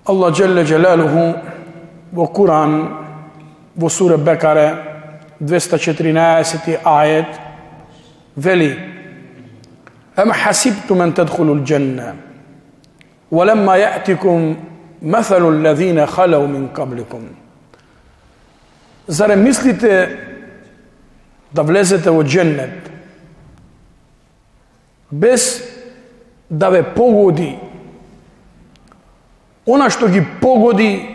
Allah Jelle Jalaluhu во Куран, во сура Бекаре, 214 ајет, вели: Ам хасибтум ан тадхулул џанна, ولما يأتكم مثل الذين خلوا من قبلكم. Зарем мислите да влезете во џеннет без да ве погоди она што ги погоди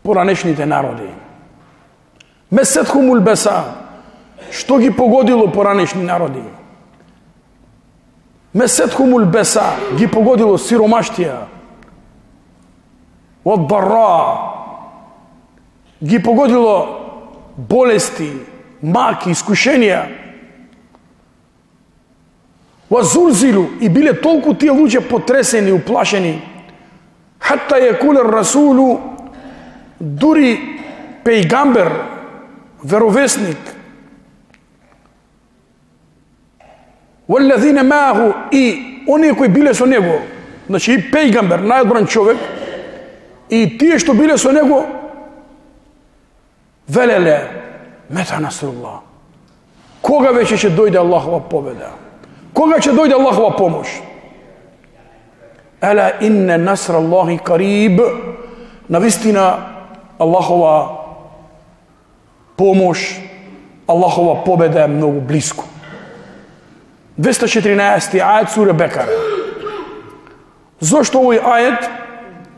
поранешните народи? Месетхумул беса, што ги погодило поранешни народи? Месетхумул беса, ги погодило сиромаштија. Од барра, ги погодило болести, маки, искушенија. Вазулзилу, и биле толку тие луѓе потресени, уплашени. Хатта јекуле расулу, дури пејгамбер, веровесник, валлазина мааху, и оние кои биле со него, значи и пејгамбер, најодбран човек, и тие што биле со него, велеле: мета насруллах, кога веќе ќе дојде Аллахова победа? Кога ќе дојде Аллахова помош? Ела инне насраллахи кариб, навистина Аллахова помош, Аллахова победа е многу близко. 214 ајет сура Бекара. Зошто овој ајет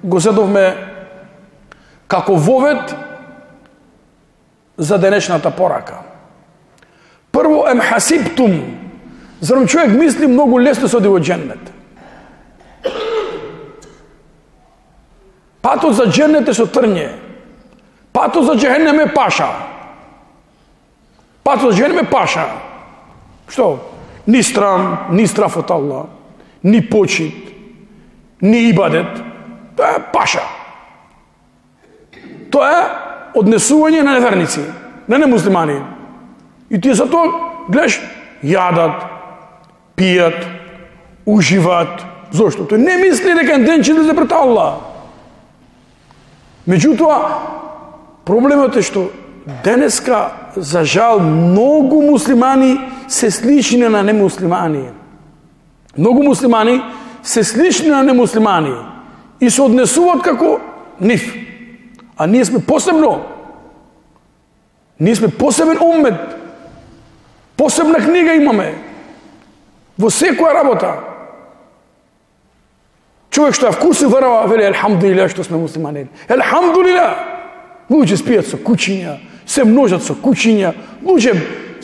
го зедовме како вовед за денешната порака? Прво, ем хасибтум, зарем човек мисли многу лесно се оди во џеннет. Патот за џеннет е со трње. Патот за џехенем е паша. Патот за џехенем е паша. Што? Ни страм, ни страф од Аллах, ни почит, ни ибадет. Тоа е паша. Тоа е однесување на неверници, на немуслимани. И тие затоа гледаш, јадат, пијат, уживат. Зошто? Тој не мисли дека ден ќе излезе пред Аллах. Меѓутоа, проблемот е што денеска, за жал, многу муслимани се слични на немуслимани. Многу муслимани се слични на немуслимани и се однесуваат како нив. А ние сме посебно. Ние сме посебен уммет. Посебна книга имаме. Во секоја работа. Човек што е вкуси верува, вели елхамдулилlah што сме муслимани. Елхамдулилlah. Луѓе спијат со кучиња, се множат со кучиња, луѓе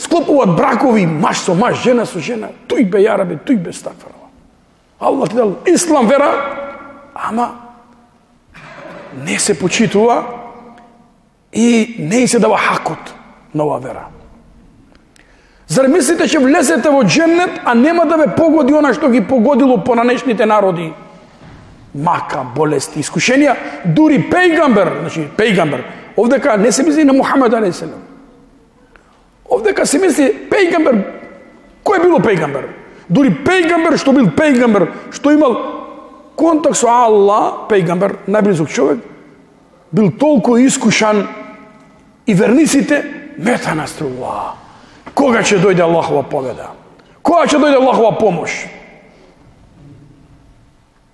склопуваат бракови, маж со маж, жена со жена. Тој бе јарабе, тој бе стакфарова. Аллах ти дал ислам вера, ама не се почитува и не се дава хакот на оваа вера. Зар мислите ќе влезете во џеннет, а нема да ве погоди она што ги погодило поранешните народи? Мака, болести, искушенија, дури пејгамбер, значи пејгамбер. Овдека не се мисли на Мухамед алейхиссалам. Овдека се мисли пејгамбер. Кој било пејгамбер? Дури пејгамбер што бил пејгамбер, што имал контакт со Аллах, пејгамбер, најблизок човек, бил толку искушан и верниците мета насруллах. Кога ќе дојде Аллахова победа? Кога ќе дојде Аллахова помош?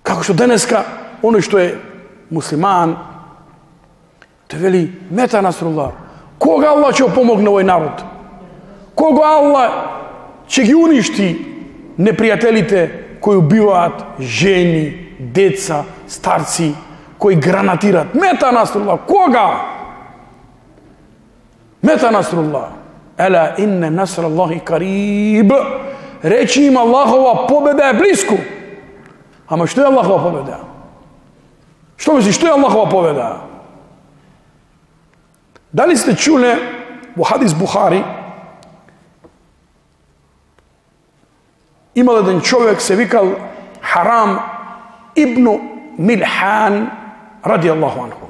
Како што денеска, оној што е муслиман, те вели мета насруллах. Кога Аллах ќе помогне овој народ? Кога Аллах ќе ги уништи непријателите кои убиваат жени, деца, старци, кои гранатират? Мета насруллах. Кога? Мета насруллах. Ела инне насраллахи кариб. Речи им Аллахова победа е близко. Ама што е Аллахова победа? Што мислиш, што е Аллахова победа? Дали сте чуле во хадис Бухари, имал еден човек, се викал Харам ибну Милхан ради Аллаху анху.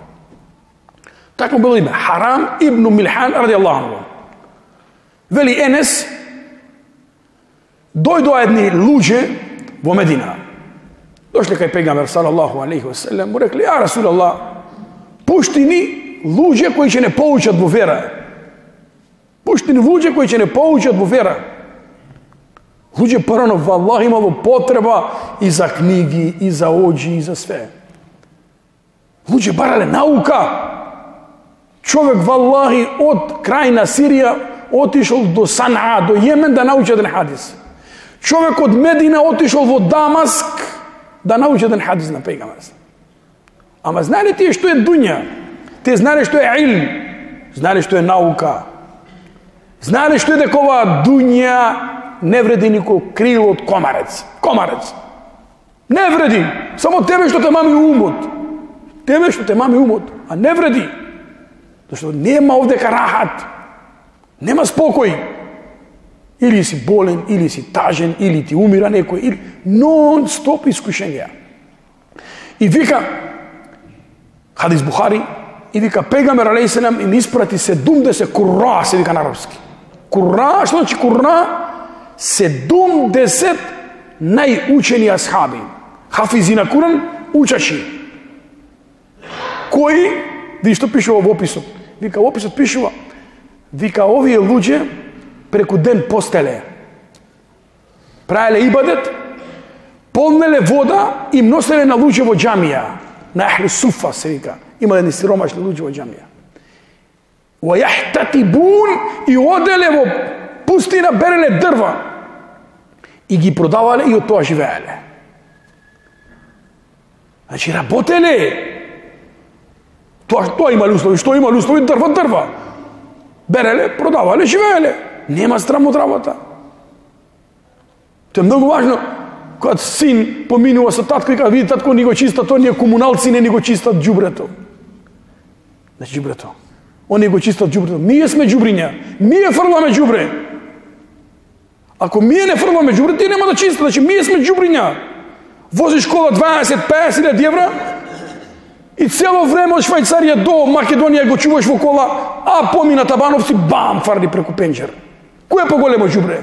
Така било име, Харам ибну Милхан ради Аллаху анху. Вели Енес, дојдоа едни луѓе во Медина. Дошле кај пегамбер салаллаху алейхи ва селем, му рекли: "Ја Расулаллах, пушти ни луѓе кои ќе не поучат во вера. Пушти ни луѓе кои ќе не поучат во вера." Луѓе порано валлах имало потреба и за книги, и за оџи, и за све. Луѓе барале наука. Човек валлахи од крајна Сирија отишол до Санаа, до Јемен да научи еден хадис. Човек од Медина отишол во Дамаск да научи еден хадис на пегамбер. Ама знаеле тие што е дуња? Те знаеле што е илм, знаеле што е наука. Знаеле што е дека оваа дуња не вреди никој крил од комарец. Комарец. Не вреди. Само тебе што те мами умот. Тебе што те мами умот, а не вреди. Зашто нема овдека рахат. Нема спокој. Или си болен, или си тажен, или ти умира некој, или нон-стоп искушенија. И вика, хадис Бухари, и вика пегамбер алейхиссалам им испрати 70 курра, се вика на арапски. Курра, што значи курра? 70 најучени асхаби. Хафизи на Куран, учачи. Кои, ви што пишува во описот? Вика, во описот пишува, вика, овие луѓе преку ден постеле, правеле ибадет, полнеле вода и носеле на луѓе во џамија. На Ахлу Суфа се вика. Има едни сиромашни луѓе во џамија. Ва јахтатибун, и оделе во пустина, береле дрва и ги продавале и од тоа живееле. Значи работеле. Тоа имали услови, што имали услови, дрва. Береле, продавале, живееле. Нема срам од работа. Тоа е многу важно. Кога син поминува со татко и кога види татко ни го чиста, тоа ние комуналци не ни го чистат џубрето. Значи џубрето. Они го чистат џубрето. Ние сме џубриња. Ние фрламе џубре. Ако ние не фрламе џубре, ти нема да чистат. Значи ние сме џубриња. Возиш кола 20-50 евра и цело време од Швајцарија до Македонија го чуваш во кола, а помина Табановци, бам, фарди преку пенџер. Кој е поголемо џубре?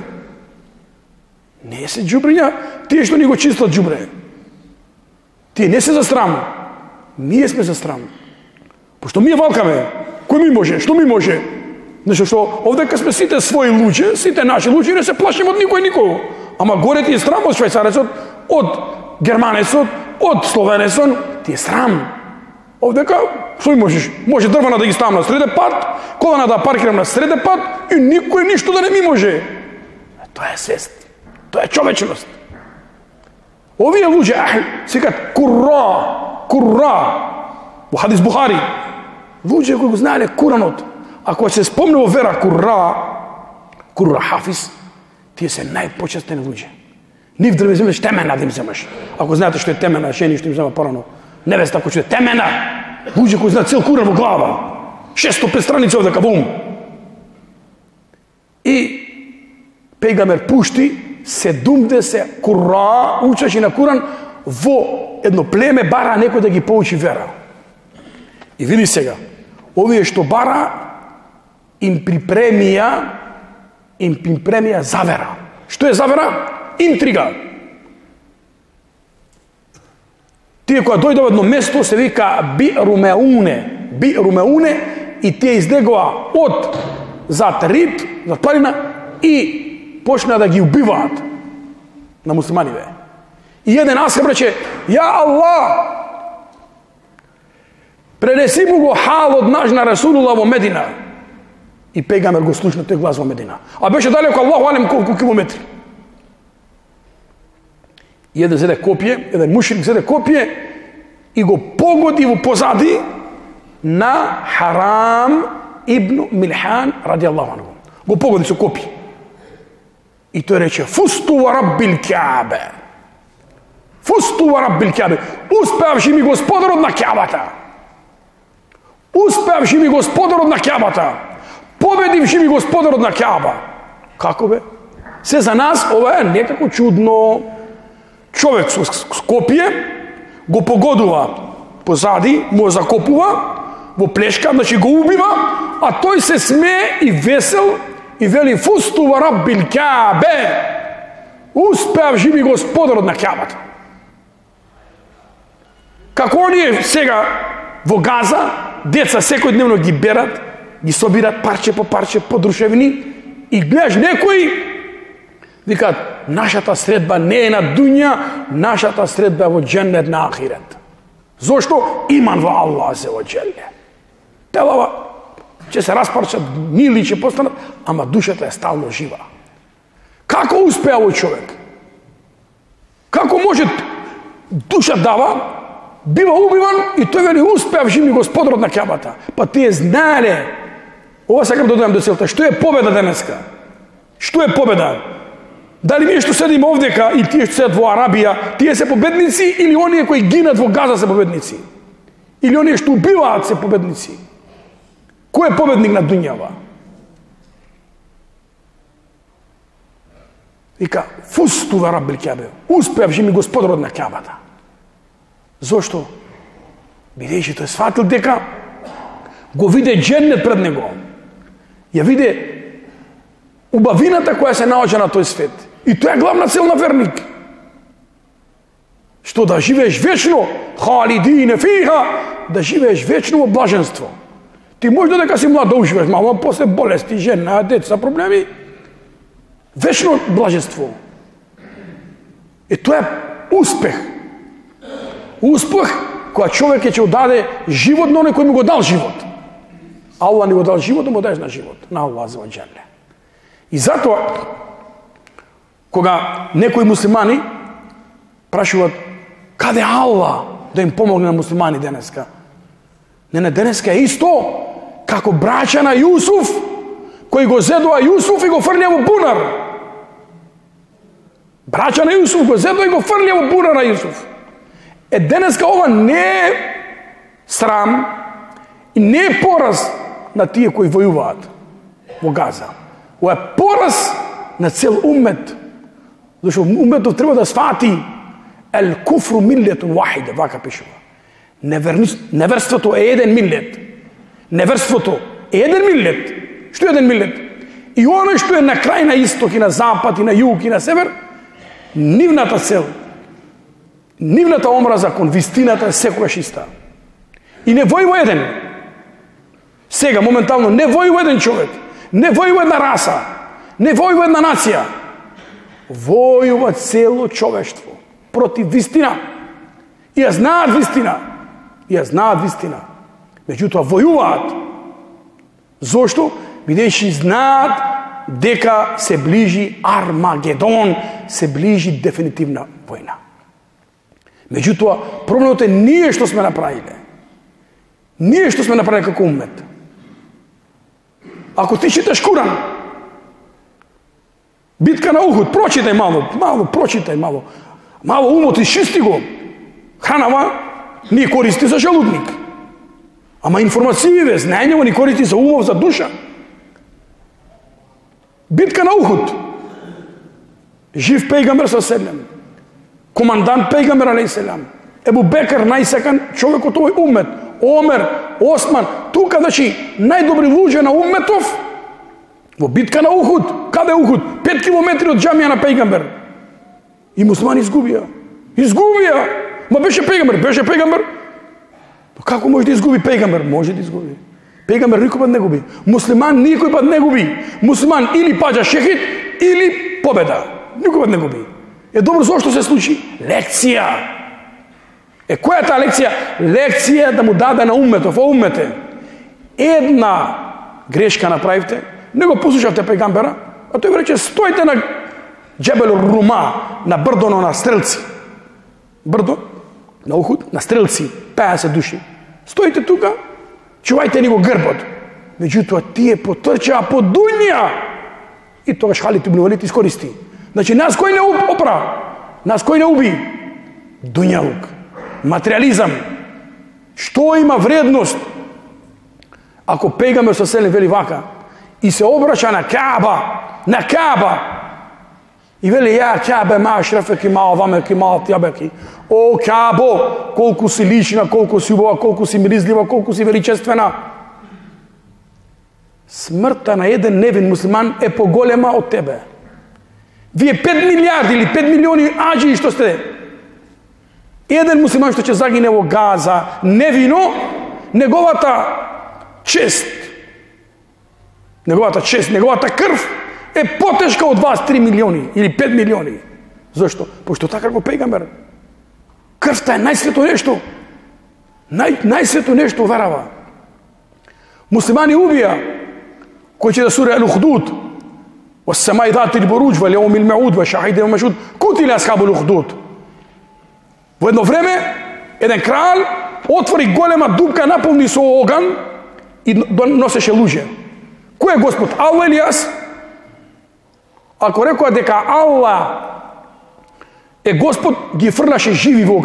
Не се џубриња, тие што ни го чистат џубре. Тие не се за срам. Ние сме за срам. Пошто ние валкаме. Кој ми може? Што ми може? Нешто што овдека сме сите своји луѓе, сите наши луѓе, не се плашим од никој. Ама горе ти е срам од швајцарецот, од германецот, од словенецот, ти е срам. Овдека, што ми можеш? Може дрвана да ги ставам на среде пат, колана да паркирам на среде пат и никој ништо да не ми може. Тоа е свест. Тоа е човечност. Овие луѓе, секат курра, во хадис Бухари, луѓе кои го знаеле Куранот, ако се спомне во вера курра хафиз, тие се најпочестени луѓе. Нив да вземеш темена да им земеш. Ако знаете што е темена, жени што им зема порано, невеста кој што е темена, луѓе кои знаат цел Куран во глава, 605 страници овдека во ум. И пегамбер пушти 70 курра, учачи на Куран, во едно племе бара некој да ги поучи вера. И види сега, овие што бара им припремија завера. Што е завера? Интрига. Тие која дојде во едно место се вика Би'румеуне, и тие излегоа од зад рид, зад планина и почна да ги убиваат на муслиманиве. И еден асхаб рече: "Ја Аллах, пренеси му го халот наш на Расулулlah во Медина." И пегамбер го слушна тој глас во Медина. А беше далеко, Аллаху алем, колку километри. И еден зеде копие, еден мушрик зеде копие и го погоди во позади на Харам ибн Милхан радијаллаху анху. Го погоди со копие. И тој рече: "Фусту ва раббил Каабе." Фусту ва раббил Каабе. Успеавши ми господарот на Каабата. Успеавши ми господарот на Каабата. Победивши ми господарот на Кааба. Како бе? Се за нас ова е некако чудно. Човек со копие го погодува позади, му закопува во плешка, значи го убива, а тој се смее и весел и вели: "Фусту ва раббил Каабе." Успеавши ми господарот на Каабата. Како оние сега во Газа, деца секојдневно ги берат, ги собират парче по парче, подрушевни, и гледаш некои, викаат, нашата средба не е на дуња, нашата средба е во џеннет на ахирет. Зошто? Иман во Аллах се во џелле. Телава ќе се распарчат, мили ќе постанат, ама душата е стално жива. Како успеа овој човек? Како може душа дава, бива убиван и тој вели успеав живи Господарот на Кеабата. Па тие знаеле. Ова сакам да додам до целта. Што е победа денеска? Што е победа? Дали ние што седиме овдека и тие што седат во Арабија, тие се победници или оние кои гинат во Газа се победници? Или оние што убиваат се победници? Кој е победник на дуњава? Вика, фусту ва раббил Кеабе. Успеав живи Господарот на Кеабата. Зошто? Бидејќи тој сватил дека го виде џеннет пред него. Ја виде убавината која се наоѓа на тој свет. И тоа е главна цел на верник. Што да живееш вечно, халидине фиха, да живееш вечно во блаженство. Ти може додека си млад да уживеш мало, после болести, жена, деца, проблеми, вечно блаженство. И тоа е успех. Успех која човек ќе даде живот на оној кој му го дал живот. Аллах ни го дал живот, да му даеш на живот. На Аллах за ваџале. И затоа, кога некои муслимани прашуваат каде Аллах да им помогне на муслимани денеска? Не, денеска е исто како браќа на Јусуф, кои го зедоа Јусуф и го фрлија во бунар. Браќа на Јусуф го зедоа и го фрлија во бунар на Јусуф. Е, денеска ова не е срам и не е пораз на тие кои војуваат во Газа. Ова е пораз на цел уммет. Зашто умметот треба да свати ел куфру миллетун вахиде, вака пишува. Неверството е еден миллет. Неверството е еден миллет. Што е еден миллет? И оно што е на крај, на исток и на запад и на југ и на север, нивната цел, нивната омраза кон вистината е секогаш иста. И не војува еден. Сега, моментално, не војува еден човек, не војува една раса, не војува една нација. Војува цело човештво против вистина. И ја знаат вистина. И ја знаат вистина. Меѓутоа, војуваат. Зошто? Бидејќи знаат дека се ближи Армагедон, се ближи дефинитивна војна. Меѓутоа, проблемот е ние што сме направиле. Ние што сме направиле како уммет. Ако ти читаш Куран, битка на Ухуд, прочитай прочитай мало. Мало умот изчисти го. Хранава ни користи за желудник. Ама информације, знаењево ни користи за умов, за душа. Битка на Ухуд. Жив пејгамбер со селем. Командант пејгамбер алейхиселам. Ебу Бекр, најсекан човек од овој уммет. Омер, Осман, тука, значи, најдобри луѓе на умметов во битка на Ухуд. Каде Ухуд? 5 километри од џамија на пејгамбер. И муслимани изгубија. Ма беше пејгамбер. Како може да изгуби пејгамбер? Може да изгуби. Пејгамбер никој пат не губи. Муслиман никој пат не губи. Муслиман или паѓа шехид, или победа. Никој пат не губи. Е, добро, зошто се случи? Лекција. Е, која е таа лекција? Лекција да му даде на умметов, уммете. Една грешка направивте, не го послушавте пејгамбера, а тој ви рече, стојте на Џебел Рума, на брдоно на стрелци. Брдо, на Ухуд, на стрелци, 50 души. Стоите тука, чувајте ни го грбот. Меѓутоа, тие потрчаа по дуња. И тогаш Халид ибн Валид искористи. Значи, нас кој не опра? Нас кој не уби? Дуњалук. Материализам. Што има вредност? Ако пејгамбер со селем вели вака и се обраќа на Кааба, и вели, ја Каабе ма ашрафеки, ма овамеки, ма тјабеки. О, Каабо, колку си лична, колку си убава, колку си миризлива, колку си величествена. Смртта на еден невин муслиман е поголема од тебе. Вие 5 милиарди или 5 милиони аџи што сте, Еден муслиман што ќе загине во Газа невино, неговата чест, неговата крв е потешка од вас 3 милиони или 5 милиони. Зошто? Пошто така го пегамбер. Крвта е најсвето нешто. Најсвето нешто верава. Муслимани убија, кој ќе да суре Ал-Ухдуд, وَالسَّمَاءِ ذَاتِ الْبُرُوجِ وَالْيَوْمِ الْمَوْعُودِ وَالشَّهِيدِ وَالْمَشْهُودِ قُتِلَ أَصْحَابُ الْأُخْدُودِ. Во едно време, еден крал отвори голема дупка, наполни со оган и носеше луѓе. Кој е Господ? Алла или јас? Ако рекоа дека Алла е Господ, ги фрлаше живи во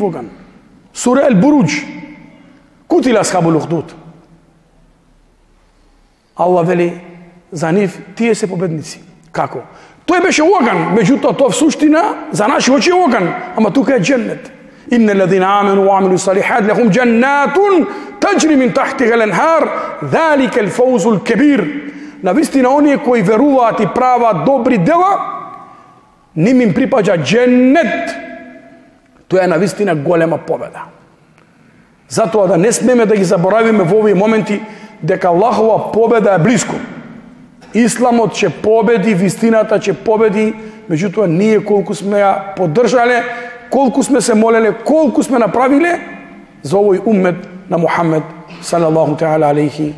оган. Сура Ал-Буруџ. Кутила асхабул ухдуд. Алла вели за нив, тие се победници. Како? Тој беше оган, меѓутоа тоа в суштина за наши очи е оган, ама тука е дженнет. Инна алладина амanu wa amilu salihat lahum jannatun tajri min tahtiha al-anhar, dhalika al-fawzu al-kabir. Навистина оние кои веруваат и прават добри дела, ним им припаѓа дженнет. Тоа е навистина голема победа. Затоа да не смеме да ги заборавиме во овие моменти дека Аллахова победа е близко. Исламот ќе победи, вистината ќе победи, меѓутоа ние колку сме ја поддржале, колку сме се молеле, колку сме направиле за овој уммет на Мухаммед салаллаху таала алейхи